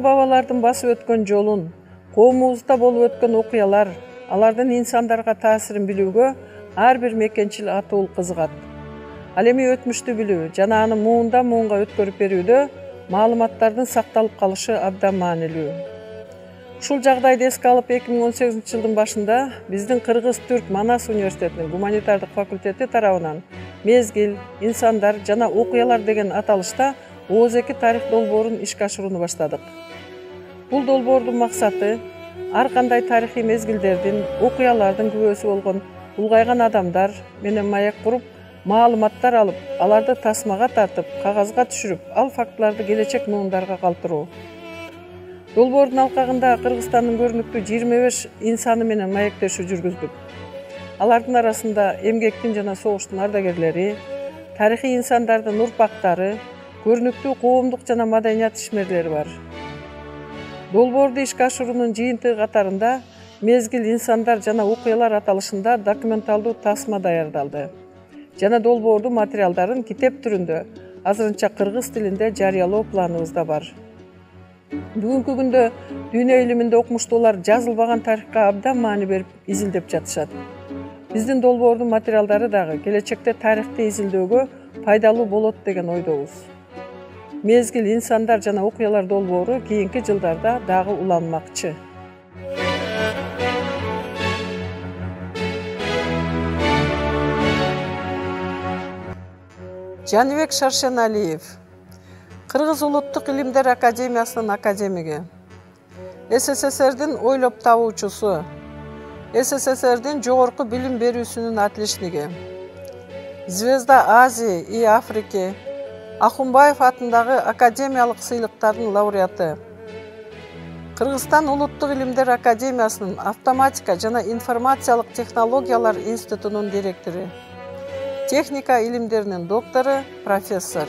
ата-бабалардын басып өткөн жолун, коомубузда болуп өткөн окуялар, алардын инсандарга таасирин билүүгө ар бир мекенчил атуул кызыгат. Ал эми өтмүштү билүү жана аны муундан муунга өткөрүп берүүдө маалыматтардын сакталып калышы абдан маанилүү. Ушул жагдайды эске алып 2018 жылдын башында биздин Кыргыз-Түрк Манас университетинин гуманитардык факультети тарабынан мезгил, инсандар жана окуялар деген аталышта ооз-2 тарых долбоорун ишке ашырууну баштадык. Бул долбоордун максаты ар кандай тарыхый мезгилдердин, окуялардын күбөсү болгон улгайган адамдар менен маек куруп, маалыматтар алып, аларды тасмага тартып, кагазга түшүрүп, ал фактыларды келечек муундарга калтыруу. Долбоордун алкагында Кыргызстандын көрүнүктүү 25 инсаны менен маектешүү жүргүздүк. Алардын арасында эмгектин жана согуштун ардагерлери, тарыхый инсандардын урпактары, көрүнүктүү коомдук жана маданият ишмерлери бар. Долбоорду ишке ашыруунун жыйынтыгы катарында мезгил, инсандар жана окуялар аталышында документалдуу тасма даярдалды жана долбоордун материалдарын китеп түрүндө азырынча кыргыз тилинде жарыялоо планыбызда бар. Бүгүнкү күндө дүйнө илиминде окумуштуулар жазылбаган тарыхка абдан маани берип изилдеп жатышат. Биздин долбоордун материалдары дагы келечекте тарыхты изилдөөгө пайдалуу болот деген ойдобуз. Мезгил, инсандар жана окуялар долбоору кийинки жылдарда дагы уланмакчы. Жаныбек Шаршеналиев, Кыргыз улуттук илимдер академиясынын академиги, СССРдин ойлоп табуучусу, СССРдин жогорку билим берүүсүнүн отличниги, Звезда Азии и Африки, Ахунбаев атындагы академиялык сыйлыктардын лауреаты, Кыргызстан улуттук илимдер академиясынын автоматика жана информациялык технологиялар институтунун директору, техника илимдеринин доктору, профессор.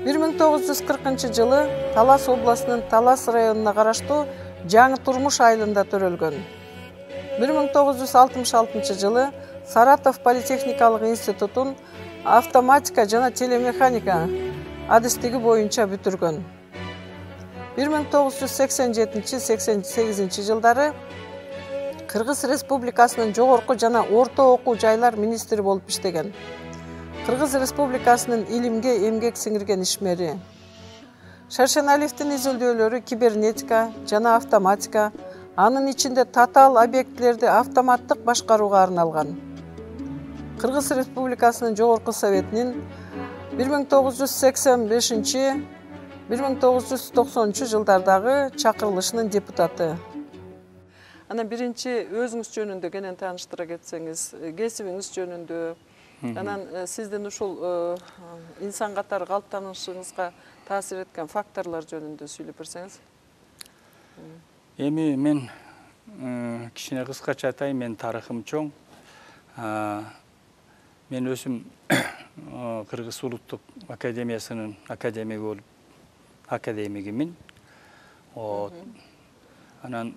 1940 жылы Талас областынын Талас районуна караштуу Жаңы Турмуш айылында төрөлгөн. 1966 жылы Саратов политехникалык институтун автоматика жана телемеханика адистиги боюнча бүтүргөн. 1987-88 жылдары Кыргыз Республикасынын жогорку жана орто окуу жайлар министри болуп иштеген. Кыргыз Республикасынын илимге эмгек сиңирген ишмери. Шаршеналиевдин изилдөөлөрү кибернетика жана автоматика, анын ичинде татаал объектилерди автоматтык башкарууга арналган. Кыргыз Республикасынын жогорку советинин 1985-1990 жылдардагы чакырылышынын депутаты. Анан биринчи өзүңүз жөнүндө кенен тааныштыра кетсеңиз, кесибиңиз жөнүндө, анан сиздин ушул инсан катары калыптанышыңызга таасир эткен факторлор жөнүндө сүйлөп берсеңиз. Эми мен кичине кыскача айтайын, мен тарыхым чоң. Мен өзүм Кыргыз улуттук академиясынын академиги болуп, академигимин. Анан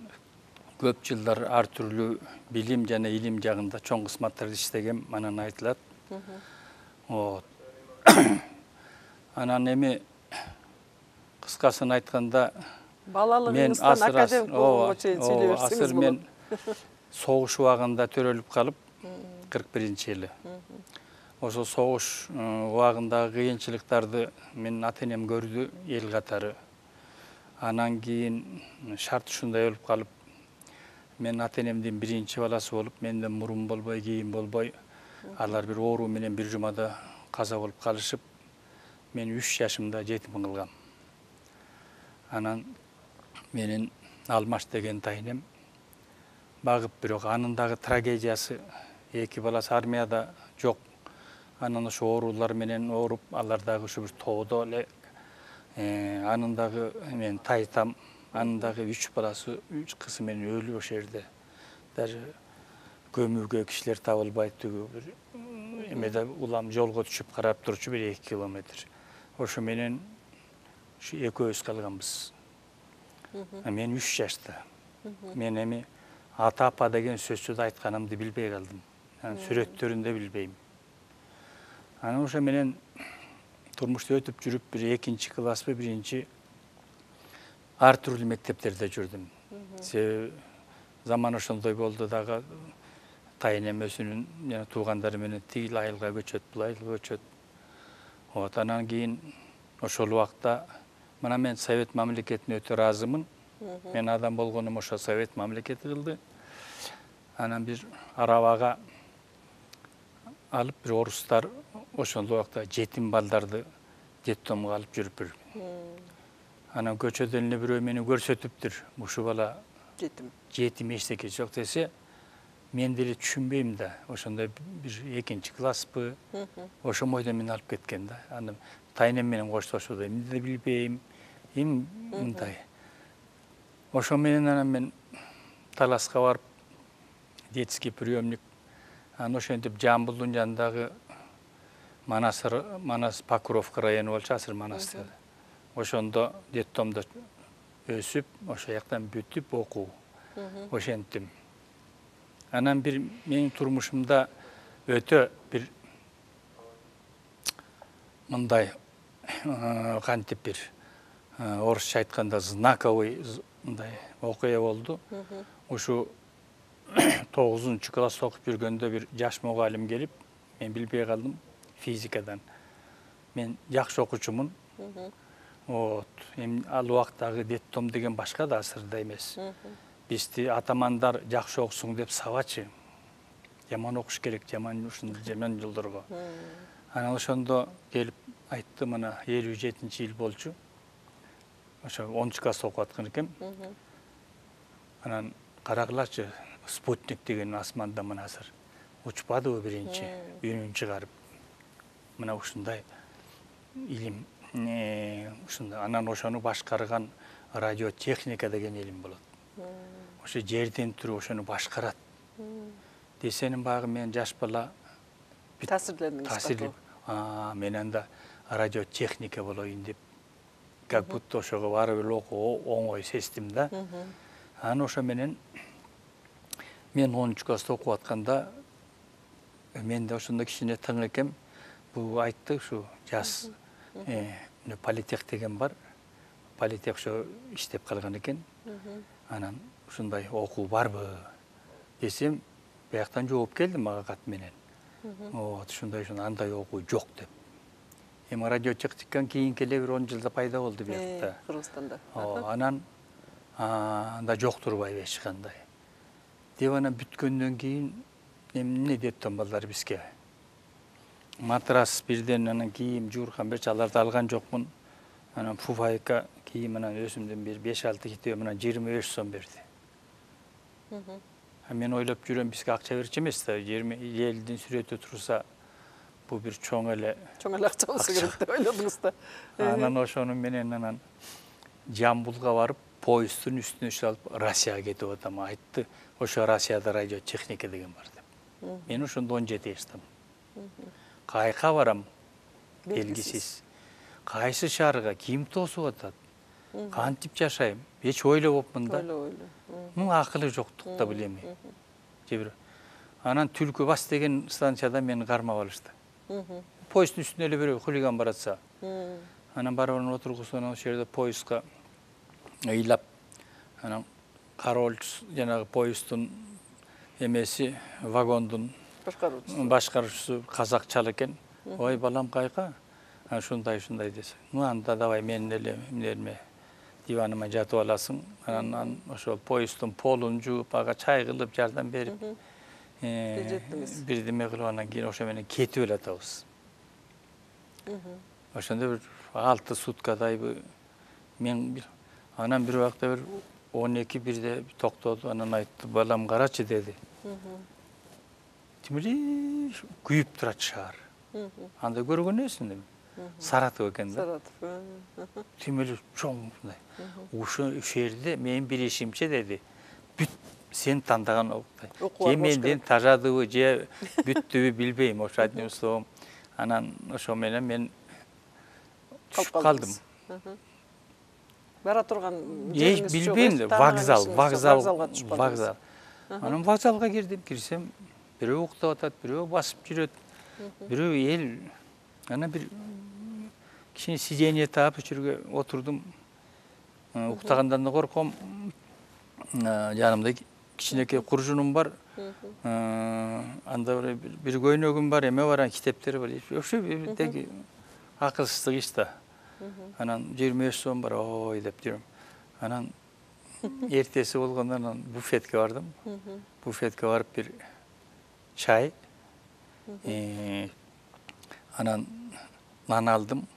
көп жылдар ар түрлүү билим жана илим жагында чоң кызматтарды иштегем, анан айтылат. Анан эми кыскасын айтканда, балалыгыңыздан академик болгонго чейин сүйлөй берсеңиз болот. Мен согуш убагында төрөлүп калып, 41-жылы. Ошо согуш убагындагы кыйынчылыктарды мен ата-энем көрдү эл катары. Анан кийин шарт ушундай болуп калып, мен ата-энемдин биринчи баласы болуп, менден мурун болбой, кийин болбой, алар бир оору менен бир жумада каза болуп калышып, мен 3 жашымда жетим кылгам. Анан менин Алмаш деген тайынем багып, бирок анын дагы трагедиясы, 2 баласы армияда жок. Анан ошо оорулар менен ооруп, алар дагы ушу бир тоодо эле. Анын дагы мен тайтам, анын дагы 3 баласы, 3 кызы менен өлү ошол жерде. Даже көмүүгө кишилер табылбайт, түгү бир эмеде улам жолго түшүп карап турчу бир 2 километр. Ошо менен ушу экөөбүз калганбыз. Мен 3 жашта. Мен эми ата-апа деген сөздү да айтканымды билбей калдым. Сүрөттөрүндө билбейм. Анан ошо менен турмушта өтүп жүрүп, бир 2-класспы, 1-чи ар түрдүү мектептерде жүрдүм. Себеби заман ошондой болду дагы тайынем өзүнүн жана туугандары менен тигил айылга көчөт, бул айылга көчөт. Вот анан кийин ошол убакта мына мен Совет мамлекетине өтө ыраазымын. Мен адам болгонум ошо Совет мамлекети кылды. Анан бир арабага алып бир орустар ошол убакта жетим балдарды детдомго алып жүрүптүр. Анан көчөдөн эле бирөө мени көрсөтүптүр. Ушул бала жетим эчтеке жок десе, мен деле түшүнбөйм да. Ошондой бир 2-класспы, ошо бойдон мени алып кеткен да. Анан тайнем менен коштошууда эмне да билбейм, мындай. Ошо менен анан мен Таласка барып, детский приемник, анан ошентип Жамбылдын жанындагы Манас Покровка району болчу, Асыр Манас. Ошондо детдомдо өсүп, ошол жактан бүтүп окуу. Ошентим. Анан бир менин турмушумда өтө бир мындай кантип бир орусча айтканда знаковый мындай окуя болду. Ушу 9-класста окуп жүргөндө бир жаш мугалим келип, мен билбей калдым физикадан. Мен жакшы окуучумун. Вот. Ал убактагы детдом деген башка да, Асырда эмес. Бизди атамандар жакшы окусуң деп сабачы. Жаман окуш керек, жаман жолдорго. Анан ошондо келип айтты, мына 57-жыл болчу. Ошо 10-класста окуп аткан экем. Анан карагылачы, спутник деген асманда мына азыр учпадыбы биринчи үнүн чыгарып. Мына ушундай илим, ушундай. Анан ошону башкарган радиотехника деген илим болот. Ошо жерден туруп ошону башкарат. Десенин багы мен жаш бала таасирлендиңиз. Мен анда радиотехника болоюн деп, как будто ошого барып эле окуу оңой сездим да. Анан ошо менен мен 10-класста окуп атканда мен да ошондо кичине тың экем. Бул айтты, ушу жас политех деген бар. Политех ошо иштеп калган экен. Анан ушундай окуу барбы десем, бияктан жооп келди мага кат менен. Вот, ушундай андай окуу жок деп. Эми радиотехниканын кийинки эле бир 10 жылда пайда болду биякта. Кыргызстанда. Анан анда жок турбайбы эч кандай. Деп анан бүткөндөн кийин эмне детдом балдар бизге. Матрас бирден, анан кийим, жууркан берчи, аларды алган жокмун. Анан фуфайка кийим, анан өзүмдөн бир 5-6 китеп, анан 25 сом берди. Мен ойлоп жүрөм, бизге акча берчү эмес да, элдин сүрөтү турса, бул бир чоң эле акча болсо керек деп ойлодуңуз да. Анан ошону менен анан Жамбылга барып, поезддун үстүнө чалып Россияга кетип атам. Айтты, ошо Россияда радиотехника деген бар деп. Мен ошондо 17 жаштамын. Кайка барам, белгисиз. Кайсы шаарга ким тосуп атат? Кантип жашайм? Эч ойлобопмун да. Акылы жоктукта билем. Анан Түлкү бас деген станцияда мени кармап алышты. Поезддун үстүнө эле бирөө хулиган баратса. Анан барып отургузуп, анан ошол жерде поездга ыйлап, анан кароол жанагы поезддун эмеси, вагондун башкаруучусу казакчал экен. Ой, балам кайка? Ушундай десе. Анда давай мен эле эмнеме диваныма жатып аласың. Анан ошол поезддун полун жууп, ага чай кылып, жардам берип, бирдеме кылып, анан кийин ошо менен кетип эле атабыз. Ошондо бир 6 суткадайбы мен анан бир убакта бир 12-1де токтоду. Анан айтты, балам карачы деди. Тимили күйүп турат шаар. Анда көргөн эмесмин. Саратов экен да. Тимили чоң мындай. Ошо жерде мен билишимче деди, бүт сен тандаган окуй. Же менден тажадыбы, же бүттүбү билбейм. Ошо одним словом. Анан ошо менен мен түшүп калдым. Бара турган жериңиз жок. Билбейм, вокзал. Анан вокзалга кирсем, бирөө уктап атат, бирөө басып жүрөт, бирөө эл. Анан бир кичине сиденье таап, ошо жерге отурдум. Уктагандан да корком. Жанымда кичинекей куржунум бар. Анда бир көйнөгүм бар, эме бар, китептер бар. Вообще деги акылсыздык иш да. Анан 25 сом бар, ой деп жүрөм. Анан эртеси болгондо анан буфетке бардым. Буфетке барып бир чай, анан нан алдым.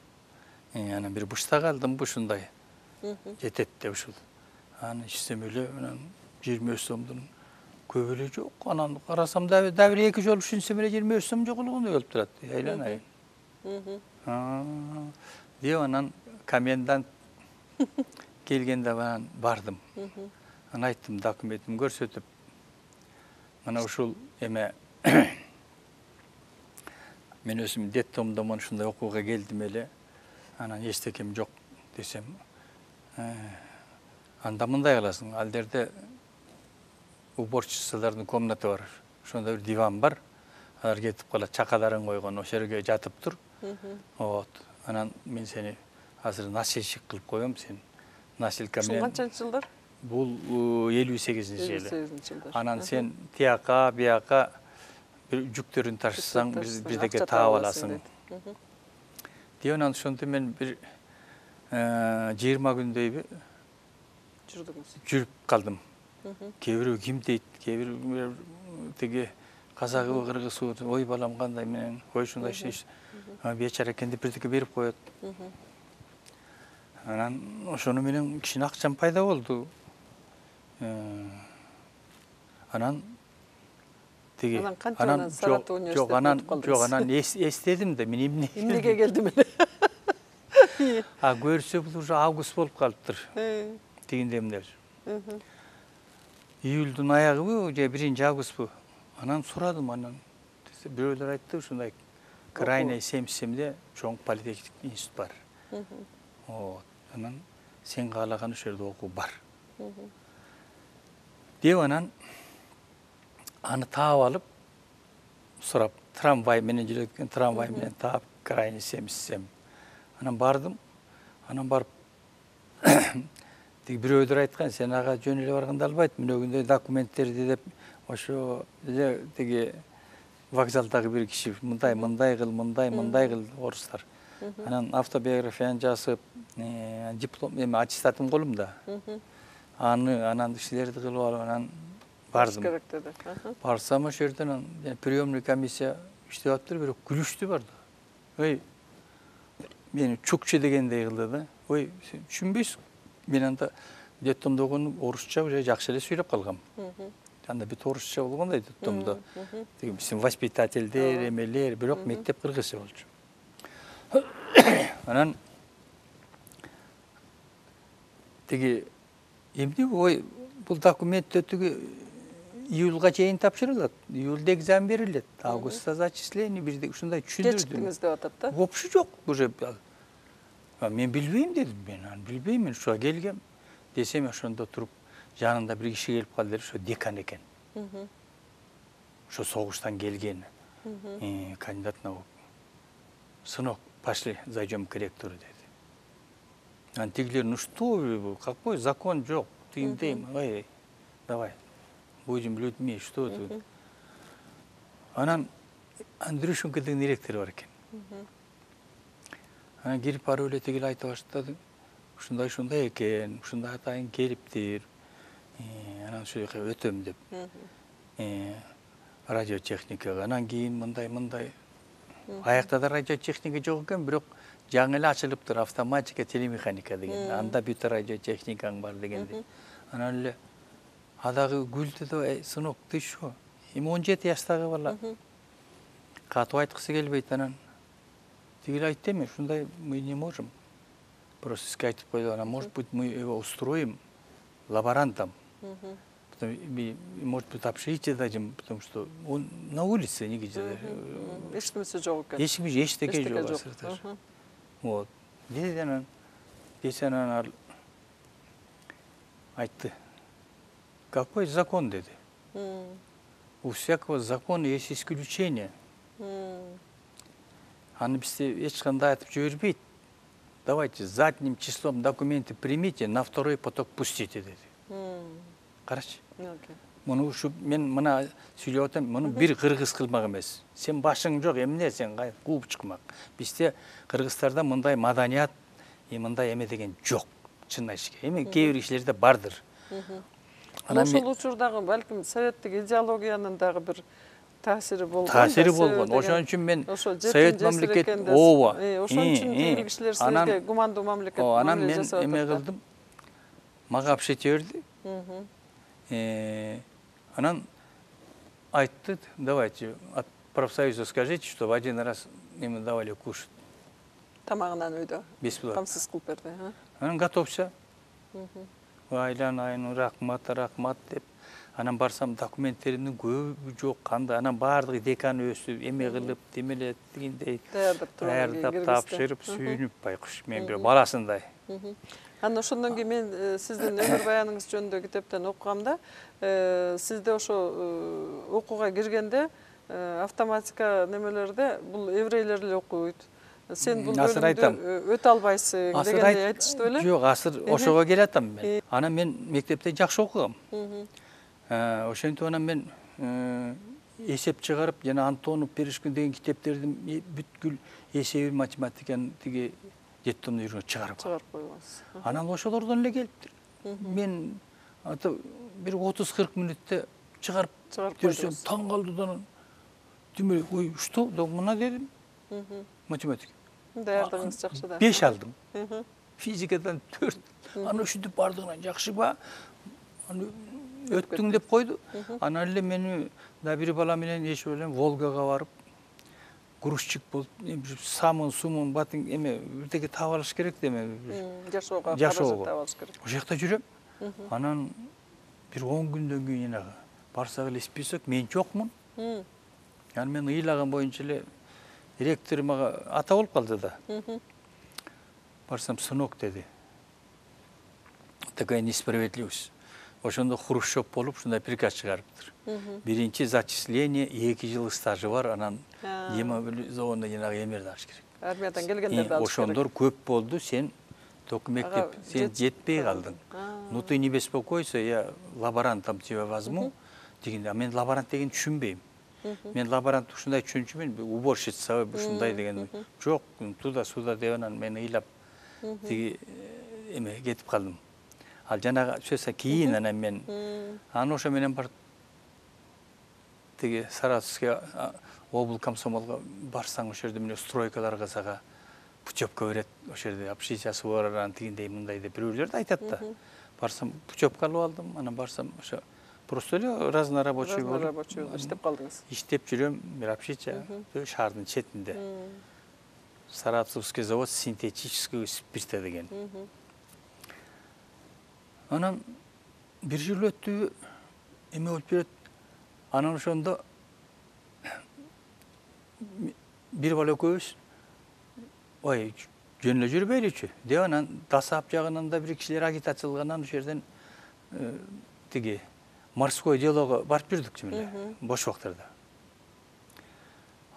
Анан бир буштак алдым, ушундай. Жетет деп ушул. Анан ичсем эле анан 25 сомдун көп эле жок. Анан карасам да бир эки жолу түшүнсөм эле 25 сом жогулгондой болуп турат. Айланайын. Деп анан комендант келгенде анан бардым. Анан айттым, документимди көрсөтүп, мына ушул эме мен өзүм детдомдон ушундай окууга келдим эле. Анан эчтекем жок десем, анда мындай кыласың, ал жерде уборщицалардын комнаты бар. Ошондо бир диван бар. Алар кетип калат, чакаларын койгон, ошол жерге жатып тур. Вот. Анан мен сени азыр носильщик кылып коем, сен носилка менен. Канчанчы жылдар? Бул 58-жылы. 58-жылдар. Анан сен тияка, бияка бир жүктөрүн ташысаң, бирдеке таап аласың. Деп анан ошондо мен бир 20 күндөй жүрүп калдым. Кээ бирөө ким дейт, кээ бирөө тиги казагыбы, кыргызбы, ой балам кандай менен, ой ушундай иш. Бечара экен деп бирдеке берип коет. Анан ошону менен кичине акчам пайда болду. Анан тиги анан Саратов университетине жок, анан эстедим да, мен эмнеге келдим эле. Көрсө бул уже август болуп калыптыр. Тигинде эмне. Июлдун аягыбы же 1-августбу. Анан сурадым, анан бирөөлөр айтты, ушундай крайний 77-де чоң политехник институт бар. Вот. Анан сен каалаган ошол жерде окуу бар. Деп анан аны таап алып, сурап, трамвай менен жүрөткөн, трамвай менен таап, крайний 77. Анан бардым, анан барып тиги бирөөдөр айткан, сен ага жөн эле барганда албайт, мынөгүндөй документтерди деп, ошо эле тиги вокзалдагы бир киши мындай кыл орустар. Анан автобиографияны жазып, диплом, эме аттестатым колумда. Анан иштерди кылып алып, анан бардым. Барсам ошол жерден приемный комиссия иштеп атыптыр, бирок күлүштү бар да. Ой, мени чукче дегендей кылды да. Ой, сен түшүнбөйсүң. Мен анда детдомдо орусча уже жакшы эле сүйлөп калгам. Анда бүт орусча болгондой детдомдо. Тиги биздин воспитательдер, эмелер, бирок мектеп кыргызча болчу. Анан тиги эмне, ой, бул документтер тиги июлга чейин тапшырылат. Июлда экзамен берилет. Августта зачисление, бирде ушундай түшүндүрдүм. Кечиктиңиз деп атат да? Вообще жок, уже мен билбейм дедим, мен билбейм, мен ушуга келгем. Десем ошондо туруп, жанында бир киши келип калды, ошо декан экен. Ошо согуштан келген. Кандидат наук. Сынок, пошли, зайдем к ректору, деди. Анан тигилер, ну что, какой закон жок, тигиндейм, ой, давай, будем людьми, что тут. Анан Андрюшенко деген ректор бар экен. Анан кирип барып эле тигил айта баштады. Ушундай экен, ушундай атайын келиптир. Анан ошол жака өтөм деп. Радиотехникага. Анан кийин мындай. Аякта да радиотехника жок экен, бирок жаңы эле ачылыптыр, автоматика, телемеханика деген. Анда бүт радиотехникаң бар дегенди. Анан эле адагы күлдү да, сынок, ты что? Эми 17 жаштагы бала. Катып айткысы келбейт, анан тигил айтты, эми ушундай мы не можем. Просто сизге айтып койду, анан может быть мы его устроим лаборантом. Может быть, общежитие дадим, потому что он на улице негде. Эч кимиси жок экен. Эчтеке жок азыр. Вот. Деди анан, ал айтты. Какой закон, деди? У всякого закона есть исключение. Аны бизде эч кандай айтып жибербейт. давайте задним числом документы примите, на второй поток пустите деди. Карачы. Муну ушу мен мына сүйлөп атам, муну бир кыргыз кылмак эмес. Сен башың жок, эмне сен кууп чыкмак. Бизде кыргыздарда мындай маданият, мындай эме деген жок. Чын айтышка. Эми кээ бир кишилерде бардыр. Ошол учурдагы балким советтик идеологиянын дагы бир таасири болгон. Таасири болгон. Ошон үчүн мен совет мамлекет ооба. Ошон үчүн кээ кишилер сизге гумандуу мамлекет анан мен эме кылдым. Мага апшете берди. Анан айтты, давайте от профсоюза скажите, что в один раз им давали кушать. Тамагынан үйдө. Бесплатно. Камсыз кылып берди. Анан готовся. Айланайын, рахмат деп. Анан барсам документтеримдин көбү жок, кандай. Анан баардыгы декан өсүп, эме кылып, демелет дегендей. Даярдап тапшырып, сүйүнүп байкуш. Мен бир баласындай. Анан ошондон кийин мен сиздин өмүр баяныңыз жөнүндө китептен окугамда, сизде ошо окууга киргенде автоматика немелерде бул еврейлер эле окуйт. Сен бул бөлүмдү өтө албайсың дегенди айтышты беле? Жок, азыр ошого келатам мен. Анан мен мектепте жакшы окугам. Ошентип анан мен эсеп чыгарып, жана Антонов, Перешкин деген китептердин бүткүл эсеби, математиканын тиги детдомдо жүргөн чыгарып койгонсуз. Анан ошолордон эле келиптир. Мен бир 30-40 мүнөттө чыгарып берсем таң калды да анан демек, ой, что? Да мына дедим. Математика. Даярдыгыңыз жакшы да. 5 алдым. Физикадан 4. Аны ушинтип бардыгынан жакшыба. Аны өттүң деп койду. Анан эле мени да бир бала менен эч элем Волгага барып, грузчик болуп, самын, сумун, батын эме бирдеке таап алыш керек деме. Жашоого таап алыш керек. Ошол жакта жүрөм. Анан бир 10 күндөн кийин энагы барсак эле список, мен жокмун. Анан мен ыйлаган боюнча эле директор мага ата болуп калды да. Барсам, сынок деди. Такая несправедливость. Ошондо Хрущев болуп, ушундай приказ чыгарыптыр. Биринчи зачисление, 2 жыл стажы бар, анан демобилизованно жанагы эмерди алыш керек. Армиядан келгендерди алыш керек. Ошондор көп болду, сен только мектеп, сен жетпей калдың. Ну ты не беспокойся, я лаборантом тебя возьму. Дегенде, мен лаборант деген түшүнбөйм. Мен лаборант ушундай түшүнчүмүн, уборщица ушундай деген. Жок, туда-сюда деп анан мен ыйлап тиги эме кетип калдым. Ал жанагы сөзсө кийин анан мен аны ошо менен барып тиги Саратовский обл комсомолго барсаң ошол жерде мына стройкаларга сага путевка берет, ошол жерде общежитиясы бар, анан тигиндей мындай деп бирөөлөрдү айтат да. Барсам путевка алып алдым, анан барсам ошо просто эле разнорабочий болуп. Разнорабочий иштеп калдыңыз. Иштеп жүрөм, бир общежития шаардын четинде. Саратовский завод синтетического спирта деген. Анан бир жыл өттү, эме болуп берет. Анан ошондо бир бала экөөбүз ой, жөн эле жүрбөйлүчү деп анан Дасап жагынан да бир кишилер агитациялагандан ошол жерден тиги морской делого барып жүрдүк жемеле, бош убактарда.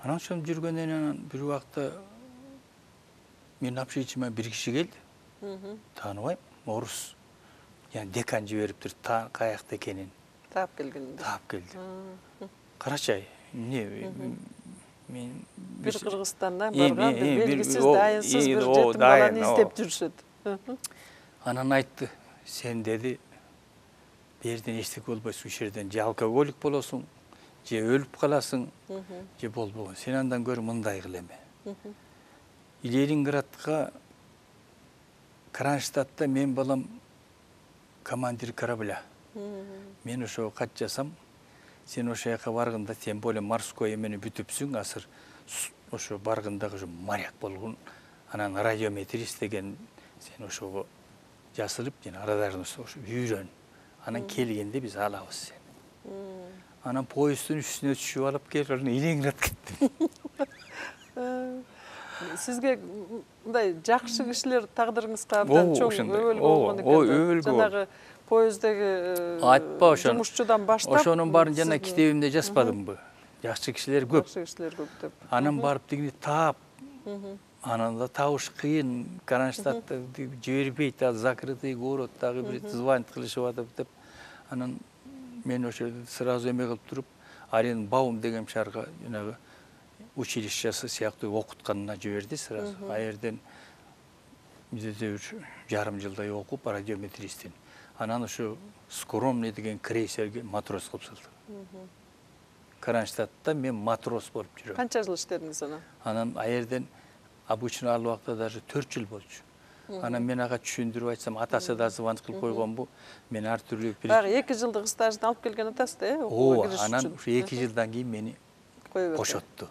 Анан ошондо жүргөндөн анан бир убакта менин общежитияма бир киши келди. Тааныбайм, орус. Yani dekan жибериптир, каякта экенин. Таап келгенде. Таап келди. Карачай, эмне мен бир Кыргызстандан барган, бир белгисиз, дайынсыз бир жетим баланы издеп жүрүшөт. Анан айтты, сен деди, берден эчтеке болбойсуң, ушул жерден же алкоголик болосуң, же өлүп каласың, же болбогон. Сен андан көрө мындай кыл эме. Ленинградга Кронштадтта мен балам командир корабля. Мен ошо кат жасам, сен ошо жака барганда, тем более морской эмени бүтүпсүң, азыр ошо баргандагы ошо моряк болгон, анан радиометрист деген, сен ошого жасылып, жана радарны ошо үйрөн. Анан келгенде биз алабыз сени. Анан поезддин үстүнө түшүп алып келип, Ленинград кеттим. Сизге мындай жакшы кишилер тагдырыңызга абдан чоң өбөлгө болгон экен. Жанагы поезддеги жумушчудан баштап. Ошонун баарын жана китебимде жазбадымбы? Жакшы кишилер көп. Жакшы кишилер көп деп. Анан барып дегенде таап, Анан да табыш кыйын, Кронштадтты жибербейт, закрытый город, дагы бир звонить кылышып атып деп. Анан мен ошо сразу эме кылып туруп, Арен Баум деген шаарга жанагы училищеси сыяктуу окутканына жиберди сразу. А жерден бизде жарым жылдай окуп, радиометристин. Анан ошо скромный деген крейсерге матрос кылып салды. Кронштадтта мен матрос болуп жүрөм. Канча жыл иштедиңиз анан? Анан а жерден обычно ал убакта даже 4 жыл болчу. Анан мен ага түшүндүрүп айтсам, атасы да звонить кылып койгонбу. Мен ар түрлүү Багы 2 жылдык стажын алып келген атасы да, окууга кириш үчүн. Анан ушу 2 жылдан кийин мени коюп кошотту.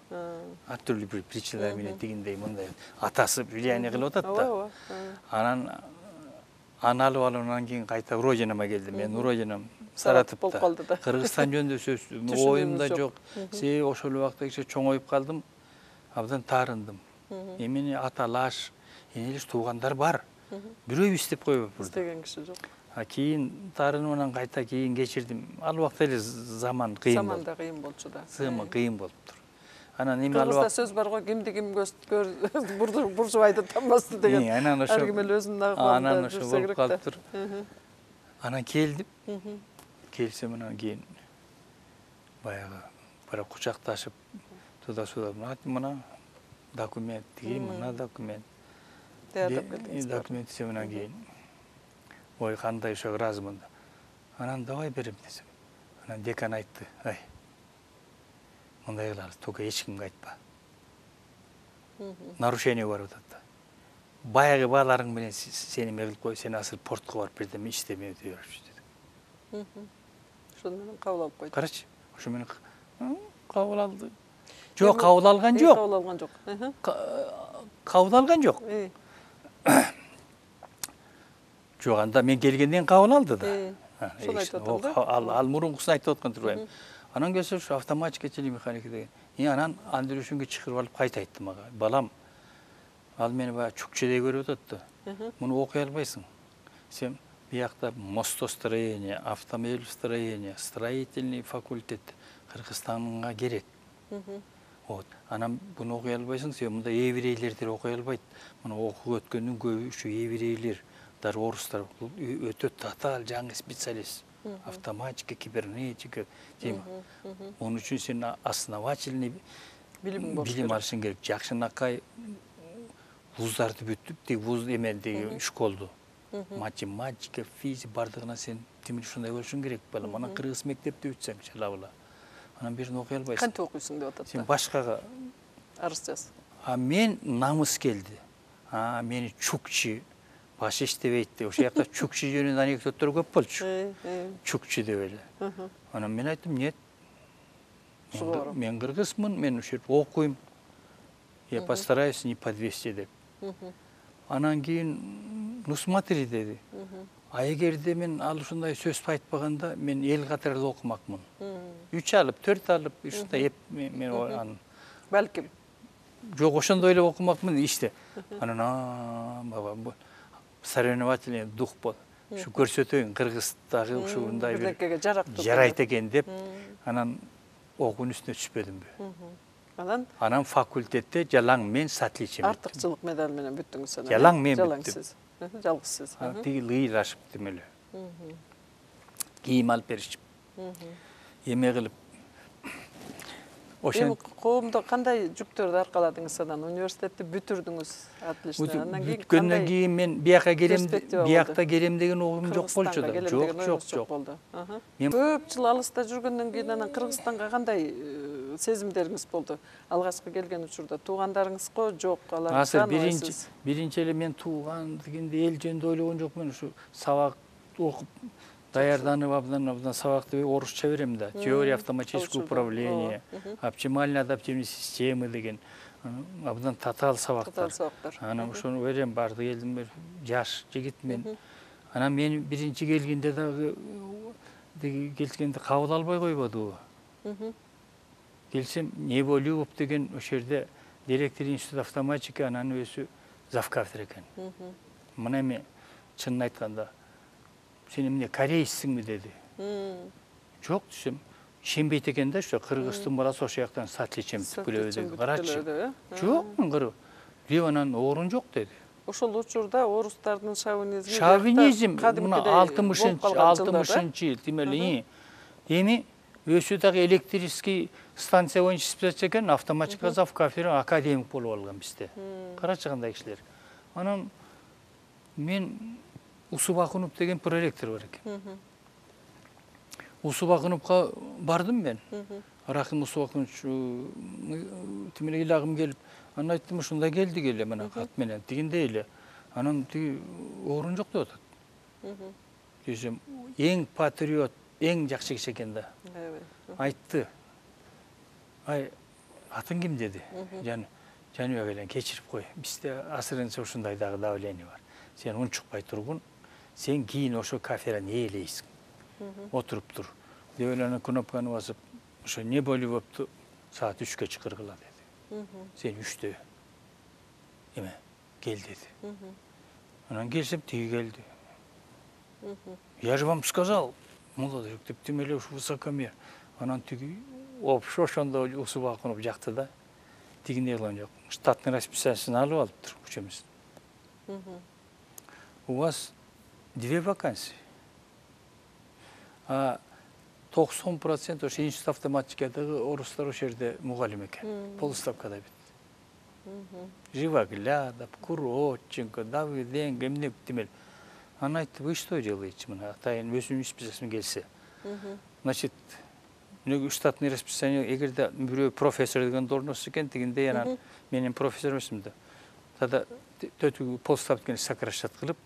Ар түрлүү бир причиналар менен тигиндей мындай атасы влияние кылып атат да. Анан аны алып алгандан кийин кайта Родинама келдим. Мен Родинам Саратовдо болуп калды да. Кыргызстан жөнүндө сөз оюмда жок. Себеби ошол убакта кичи чоңоюп калдым. Абдан таарындым. Эмени аталаш, энелиш туугандар бар. Бирөөбүз деп коюп бурду. İstеген киши жок. Кийин таарынымдан кайта кийин кечирдим. Ал убакта эле заман кыйын болду. Заман да кыйын болчу да. Заман кыйын болуптур. Анан эми ал Кыргызда сөз бар го, кимди ким буржубайды танбасын деген. Анан ошо ар ким эле өзүнүн анан агыбында ошо жүрсө болуп керек да. калыптыр. Анан келдим. Келсем анан кийин баягы бара кучакташып туда-сюда мына документ, тиги мына документ. Документ десем анан кийин ой кандай ошо ыраазымын. Анан давай берем десем. Анан декан айтты, ай мындай кылабыз, только эч кимге айтпа. Нарушение бар атат да. Баягы бааларың менен сени эме кылып кой, сен асыл портко барып бирдеме иштеме деп беришти деди. Ошону менен кабыл алып койду. Карачы, ошо менен кабыл алды. Жок, кабыл алган жок. Кабыл алган жок. Кабыл алган жок. Жок, анда мен келгенден кабыл алды да. Шону айтып атам да. Ал мурункусын айтып аткан турбайм. Анан келсе ушу автоматика телемеханика деген. Анан Андрюшинге чакырып алып кайта айтты мага. Балам, ал мени баягы чукчедей көрүп атат да. Муну окуй албайсың. Сен биякта мостостроение, автомобильстроение, строительный факультет Кыргызстанга керек. Вот. Анан буну окуй албайсың, сен мында еврейлердер окуй албайт. Муну окууга өткөндүн көбү ушу еврейлер, дар орустар өтө татаал жаңы специалист. Автоматика, кибернетика тема. Onun үчүн сен основательный билим алышың керек. Жакшынакай вуздарды бүтүп, тиг вуз эмелдеги школду. Математика, физика бардыгына сен тимир ушундай болушуң керек балам. Анан кыргыз мектепти бүтсөң чалабыла. Анан бирин окуй албайсың. Кантип окуйсуң деп атат. Сен башкага арыз жаз. Мен намыс келди. Мени чукчи баш иштебейт деп. Ошол жакта чукчи жөнүндө анекдоттор көп болчу. Чукчи деп эле. Анан мен айттым, нет. Мен кыргызмын, мен ошо жерде окуйм. Я постараюсь не подвести деп. Анан кийин, ну смотри деди. А эгерде мен ал ушундай сөз айтпаганда, мен эл катары эле окумакмын. 3 алып, 4 алып, ушундай мен анан балким. Жок, ошондой эле окумакмын иште. Анан баба соревновательный дух бол. Ушу көрсөтөйүн Кыргыздагы ушундай бир жарайт экен деп. Анан окуунун үстүнө түшпөдүмбү. Анан факультетте жалаң мен с отличием. Артыкчылык медаль менен бүттүңүз анан. Жалаң мен бүттүм. Жалгыз сиз. Тиги ыйлашып эле. Кийим алып беришип. Эме кылып. Эми коомдо кандай жүктөрдү аркаладыңыз анан? Университетти бүтүрдүңүз, отлично. Анан кийин бүткөндөн кийин мен биякка келем деген оюм жок болчу да. Жок. Көп жыл алыста жүргөндөн кийин анан Кыргызстанга кандай сезимдериңиз болду? Алгачкы келген учурда туугандарыңызго жок, алар тааныбайсыз. Биринчи эле мен тууган дегенде эл жөнүндө ойлогон жокмун. Ушу сабак окуп даярданып абдан сабакты орусча берем да. Теория автоматического управления, оптимальные адаптивные системы деген абдан татаал сабактар. Анан ошону берем, барды келдим, жаш жигит мен. Анан мен биринчи келгенде дагы келгенде кабыл албай койбодубу. Келсем, Неболюбов деген ошол жерде директор институт автоматика, анан өзү завкафедра экен. Мына эми чынын айтканда сен эмне корейсиңби деди. Жок десем, ишенбейт экен да, ошо кыргыздын баласы ошол жактан с отличием түпкүлөбү деди. Карачы. Жок, мен анан орун жок деди. Ошол учурда орустардын шовинизми Шовинизм мына 60-60 жыл демели. Эми өзү дагы электрический станция боюнча иштеп жатса экен, автоматика завкафедра академик болуп алган бизде. Карачы кандай кишилер. Анан мен Усубакунов деген проректор бар экен. Усубакуновго бардым мен. Рахим Усубакунович тимеле илагым келип, анан айттым, ушундай келди келе мына кат менен дегендей эле. Анан тиги орун жок деп атат. Десем, эң патриот, эң жакшы киши экен да. Айтты. Ай, атың ким деди. Жаныбек эле кечирип кой. Бизде азырынча ушундай дагы давление бар. Сен унчукпай тургун. Сен кийин ошо кафедраны ээлейсиң. Отуруп тур. Деп эле кнопканы басып, ошо не болуп болупту, саат 3-кө чакыргыла деди. Сен 3-тө эме кел деди. Анан келсем тиги келди. Я же вам сказал, молодой, деп тимеле ушу высокомер. Анан тиги ошондо Усубакунов жакты да. Тигине кылган жок. Штатный расписаниесин алып алыптыр учебиз. У вас 2 вакансии. А 90% ошо институт автоматикадагы орустар ошол жерде мугалим экен. Полставкада бит. Живоглядов, Куроченко, Давыденко, эмне демел. Анан айтты, вы что делаете? Мына атайын өзүнүн списокуна келсе. Значит, штатный расписание, эгерде бирөө профессор деген должность экен, дегенде анан менин профессор эмесмин да. Тада төтү полставканы сокращать кылып,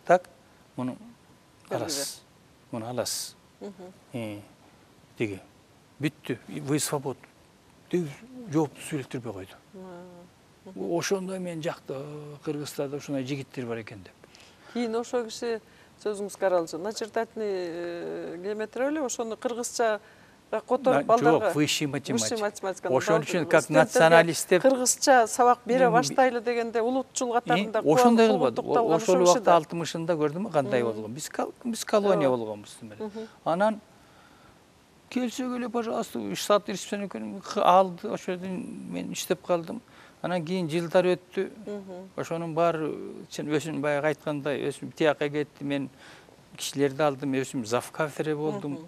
так, муну аласыз. Муну аласыз. Деги. Бүттү, вы свободны. Деп жоопту сүйлөттүрбөй койду. Ошондой мен жакта Кыргызстанда ушундай жигиттер бар экен деп. Кийин ошо киши сөзүңүз каралжы. Начертательный геометрия эле ошону кыргызча которуп балдарга. Жок, высший математика. Ошон үчүн как националист деп кыргызча сабак бере баштайлы дегенде улутчул катарында ошондой кылбады. Ошол убакта 60-ында көрдүмү кандай болгон. Биз колония болгонбуз демек. Анан келсе келе, пожалуйста, штатный расписание алды, ошол жерден мен иштеп калдым. Анан кийин жылдар өттү. Ошонун баары өзүм баягы айткандай, өзүм тияка кетти, мен кишилерди алдым, өзүм завкафедра болдум.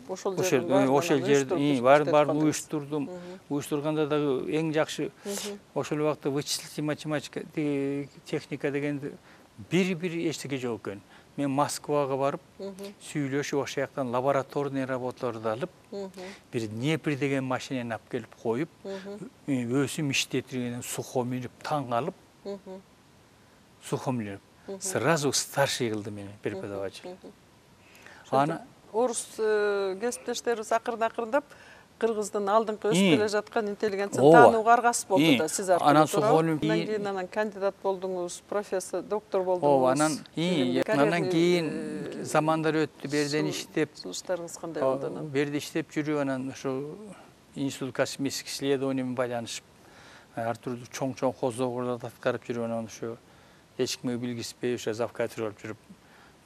Ошол жерде баарын уюштурдум. Уюштурганда дагы эң жакшы ошол убакта вычислительный математика, техника дегенди бир эчтеке жок экен. Мен Москвага барып, сүйлөшүп, ошол жактан лабораторный работаларды алып, бир Днепр деген машинени алып келип коюп, өзүм иштетирген сухомилип, таң алып, сухомилип, сразу старший кылды мени преподаватель. Ана орус кесиптештерибиз акырындап кыргыздын алдыңкы өсүп келе жаткан интеллигенцияны таанууга аргасыз болду да сиз аркылуу. Анан сухомилип, анан кандидат болдуңуз, профессор, доктор болдуңуз. Анан кийин замандар өттү, берден иштеп, сунуштарыңыз кандай болду анан? Берде иштеп жүрүп, анан ошо институт космических исследований менен байланышып, ар түрдүү чоң козогорлорду аткарып жүрүп, анан ошо эч кимге билгизбей ошо завкафедра болуп жүрүп,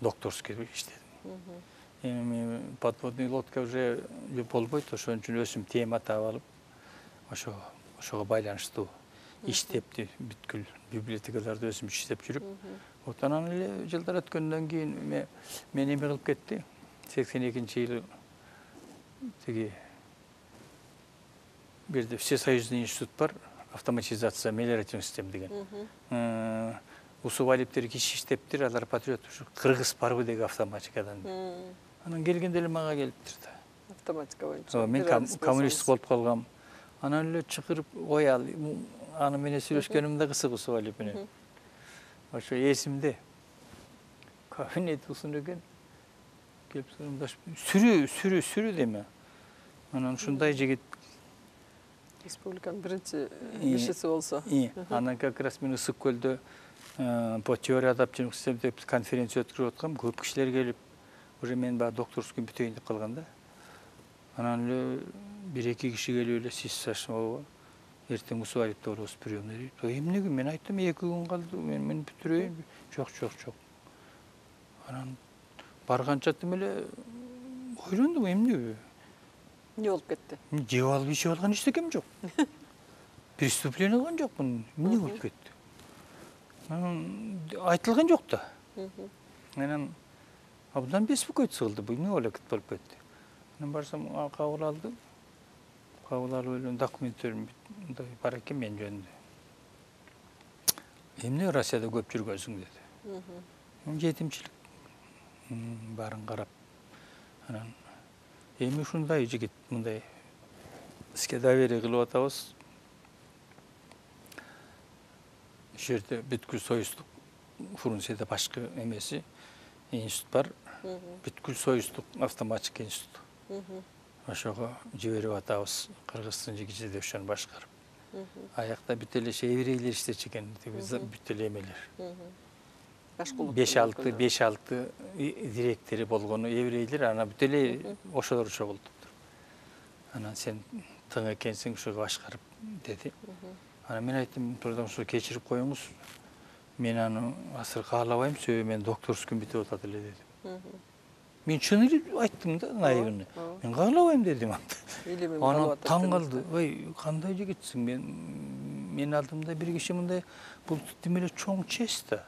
докторский иштедим. Эми подводный лодка уже болбойт, ошон үчүн өзүм тема таап алып, ошого байланыштуу иштепти, бүткүл библиотекаларды өзүм иштеп жүрүп, анан эле жылдар өткөндөн кийин мен эме кылып кетти. 82-жылы тиги бирде Всесоюзный институт бар, автоматизация мелиоративный система деген. Усубалиптер киши иштептир, алар патриот ушу Кыргыз парбы деген автоматикадан. Анан келгенде эле мага келиптир да. Автоматика боюнча. Мен коммунист болуп калгам. Анан эле чакырып, ой ал, аны менен сүйлөшкөнүм да кызык Усубалип менен. Ошо эсимде. Кабинет узун экен. Келип сурумдаш, сүрү деме. Анан ушундай жигит республиканын биринчи кишиси болсо. Анан как раз мен Ысык көлдө по теории адаптивдик систем деп конференция өткөрүп аткам, көп кишилер келип, уже мен баягы докторский бүтөйүн деп калган да. Анан эле 1-2 киши келип эле сиз сашмабы, эртең Усубалипте болобуз приемный дейт. Эмнеге? Мен айттым 2 күн калды, мен бүтүрөйүн. Жок. Анан барганча эле ойлондум, эмнеге? Не болуп кетти? Жеп алып ичип алган эчтекем жок. преступление кылган жокмун, эмне болуп кетти. Айтылган жок да. Анан абдан беспокойство кылды, бул эмне болуп кетти. Анан барсам, кабыл алдым. Кабыл алып эле документтерим мындай бар экен мен жөнүндө. Эмне Россияда көп жүргөнсүң деди. Жетимчилик барын карап. Анан эми ушундай жигит мындай иске доверие кылып атабыз. Жерде бүткүл союздук Фрунзеде башкы эмеси институт бар. Бүткүл союздук автоматчик институт. Ошого жиберип атабыз. Кыргыздын жигити ошону башкарып. Аякта бүт эле еврейлер иштечү экен, бүт эле эмелер. 5-6 директори болгону еврейлер, анан бүт эле ошолор чогултуптур. Анан сен тың экенсиң, ошого башкарып деди. Анан мен айттым, "Турдамшы кечирип коюңуз. Мен аны азыр каалабайм, себеби мен докторским бүтүп атат эле" дедим. Мен чын эле айттым да, наивный. Мен каалабайм дедим анда. Анан таң калды. "Ой, кандай жигитсиң? Мен алдымда бир киши мындай, бул демеле чоң честь да.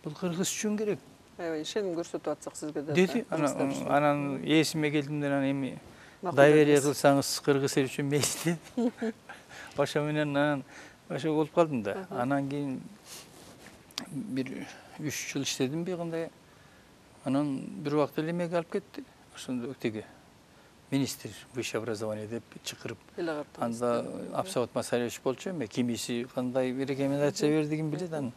Бул кыргыз үчүн керек." Аябай ишеним көрсөтүп атсак сизге да. Деди. Анан эсиме келдимде, анан эми доверие кылсаңыз кыргыз эл үчүн мейли деди. Ошо менен анан ошо болуп калдым да. Анан кийин бир 3 жыл иштедимби кандай. Анан бир убакта эле эмеге алып кетти. Ошондо тиги министр высшее образование деп чакырып. Анда Абсавод Масариевич болчу эми, кимиси кандай бир рекомендация берди ким билет аны.